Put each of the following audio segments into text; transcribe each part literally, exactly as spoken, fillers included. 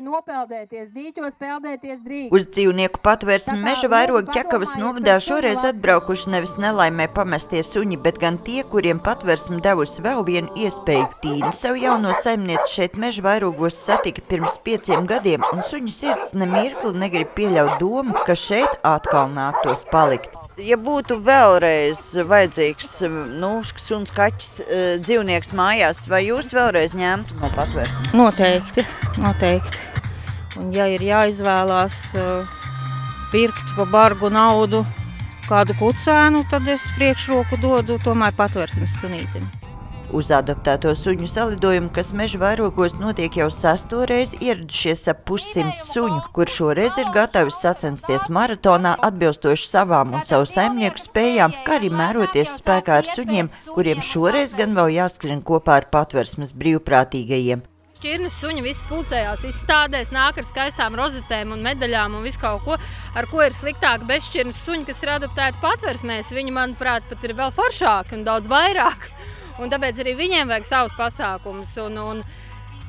nopeldēties, dīķos peldēties drīkst. Uz dzīvnieku patvērsmi Meža vairogi Ķekavas novadā šoreiz atbraukuši nevis nelaimē pamestie suņi, bet gan tie, kuriem patvērsmi devusi vēl vienu iespēju. Tīna savu jauno saimnieci šeit Meža vairogos satika pirms pieciem gadiem, un suņu sirds nemirkli negrib pieļaut domu, ka šeit atkal nāktos palikt. Ja būtu vēlreiz vajadzīgs, nu, suns, kaķis, dzīvnieks mājās, vai jūs vēlreiz ņemtu no patvērsmes? Noteikti, noteikti. Un ja ir jāizvēlās pirkt pa bargu naudu kādu kucēnu, tad es priekšroku dodu tomēr patvērsmes sunītim. Uz adoptēto suņu salidojumu, kas Meža vairogos notiek jau sesto reizi, ieradušies ap pussimts suņu, kur šoreiz ir gatavi sacensties maratonā atbilstoši savām un savu saimnieku spējām, kā arī mēroties spēkā ar suņiem, kuriem šoreiz gan vēl jāskrien kopā ar patvērsmes brīvprātīgajiem. Šķirnes suņi visi pulcējās izstādēs, nāk ar skaistām rozetēm un medaļām un visu kaut ko, ar ko ir sliktāk bezšķirnes suņi, kas ir adoptēti patvērsmēs. Viņi, manuprāt, pat ir vēl foršāki un daudz vairāk. Un tāpēc arī viņiem vajag savus pasākumus. Un, un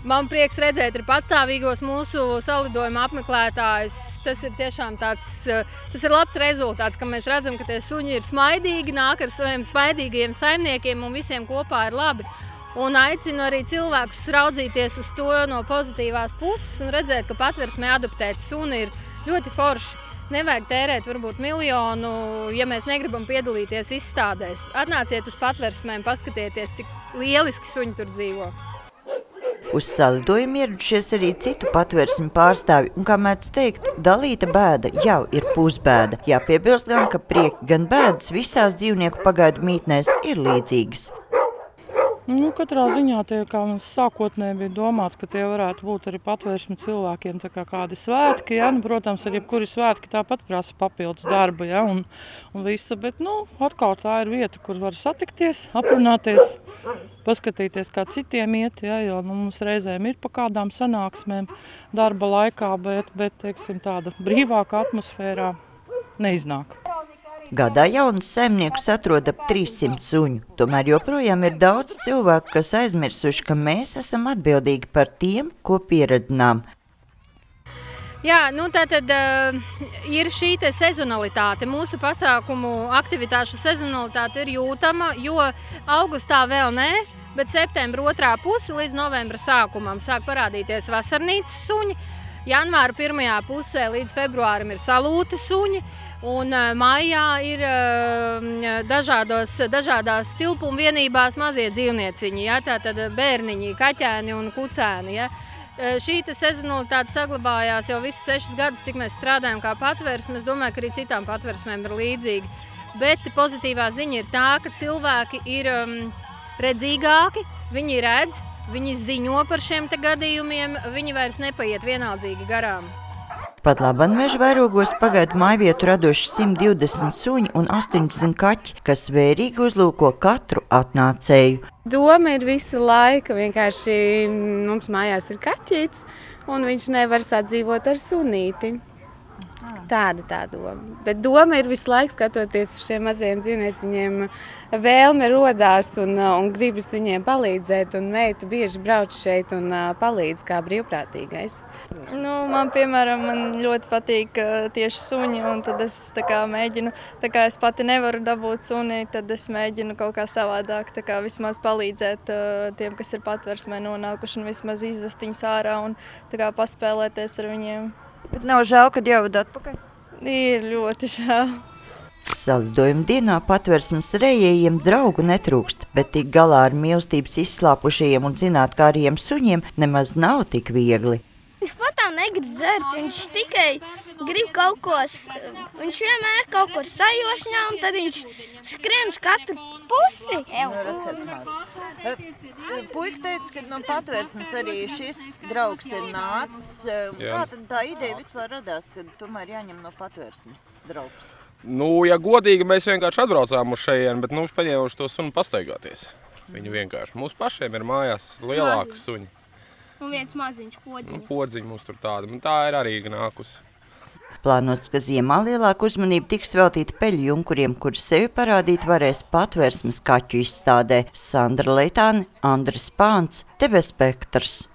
man prieks redzēt ir patstāvīgos mūsu salidojuma apmeklētājus. Tas ir tiešām tāds, tas ir labs rezultāts, ka mēs redzam, ka tie suņi ir smaidīgi, nāk ar saviem smaidīgajiem saimniekiem un visiem kopā ir labi. Un aicinu arī cilvēkus raudzīties uz to no pozitīvās puses un redzēt, ka patvērsmē adoptēt suni ir ļoti forši. Nevajag tērēt varbūt miljonu, ja mēs negribam piedalīties izstādēs. Atnāciet uz patvērsmēm, paskatieties, cik lieliski suņi tur dzīvo. Uz salidojumu ieradušies arī citu patvērsmi pārstāvi, un, kā mēdz teikt, dalīta bēda jau ir pusbēda. Jāpiebilst gan, ka prieki gan bēdas visās dzīvnieku pagaidu mītnēs ir līdzīgas. Nu, katrā ziņā tie, kā mums sākotnēji bija domāts, ka tie varētu būt arī patvērsmi cilvēkiem tā kā kādi svētki, ja? Nu, protams, arī kuri svētki tāpat prasa papildus darba, ja? un, un visa, bet, nu, atkal tā ir vieta, kur var satikties, aprunāties, paskatīties, kā citiem iet, ja? Jo nu, mums reizēm ir pa kādām sanāksmēm darba laikā, bet, bet teiksim, tāda brīvāka atmosfērā neiznāk. Gadā jaunus saimniekus atrod ap trīssimt suņu. Tomēr joprojām ir daudz cilvēku, kas aizmirsuši, ka mēs esam atbildīgi par tiem, ko pieradinām. Jā, nu tātad uh, ir šī te sezonalitāte. Mūsu pasākumu aktivitāšu sezonalitāte ir jūtama, jo augustā vēl ne, bet septembra otrā puse līdz novembra sākumam sāk parādīties vasarnīcas suņi. Janvāra pirmajā pusē līdz februārim ir salūti suņi. Un maijā ir dažādos, dažādās tilpuma vienībās mazie dzīvnieciņi, ja, tātad bērniņi, kaķēni un kucēni. Ja. Šī sezonalitāte saglabājās jau visus sešus gadus, cik mēs strādājam kā patvērsme. Es domāju, ka arī citām patvērsmēm ir līdzīgi. Bet pozitīvā ziņa ir tā, ka cilvēki ir um, redzīgāki, viņi redz, viņi ziņo par šiem te gadījumiem, viņi vairs nepaiet vienaldzīgi garām. Pat labam Meža vairogos pagaidu mājvietu radoši simt divdesmit suņi un astoņdesmit kaķi, kas vērīgi uzlūko katru atnācēju. Doma ir visu laiku, vienkārši mums mājās ir kaķīts un viņš nevar sadzīvot ar sunīti. Tāda tā doma. Bet doma ir visu laiku skatoties uz šiem mazajiem dzīvnieciņiem, vēlme rodās un, un gribas viņiem palīdzēt, un meita bieži brauc šeit un palīdz kā brīvprātīgais. Nu, man, piemēram, man ļoti patīk tieši suņi, un tad es tā kā mēģinu, tā kā es pati nevaru dabūt suni, tad es mēģinu kaut kā savādāk, tā kā vismaz palīdzēt tiem, kas ir patvērsmē nonākuši, un vismaz izvest viņus ārā un tā kā paspēlēties ar viņiem. Bet nav žēl, kad jāvada atpakaļ? Ir ļoti žēl. Salidojuma dienā patvērsmes rejējiem draugu netrūkst, bet tik galā ar mīlestības izslāpušajiem un zinātkāriem suņiem nemaz nav tik viegli. Viņš patām negrib dzert, viņš tikai grib kaut ko, viņš vienmēr kaut ko sajošņā, un tad viņš skrien uz katru pusi. Puika teica, ka no patvērsmes arī šis draugs ir nācis. Kā tad tā ideja vispār radās, kad tomēr jāņem no patvērsmes draugs? Nu, ja godīgi, mēs vienkārši atbraucām uz šejien, bet mums paņēmuši to sunu pastaigāties. Viņu vienkārši. Mums pašiem ir mājās lielāki suņi. Un viens maziņš podziņš. Nu, podziņi mums tur tāda. Un tā ir arī nākusi. Plānots, ka ziemā lielāka uzmanība tiks veltīta peļu junkuriem, kuri sevi parādīt varēs patvērsmes kaķu izstādē. Sandra Leitāne, Andris Pāns, T V Spektrs.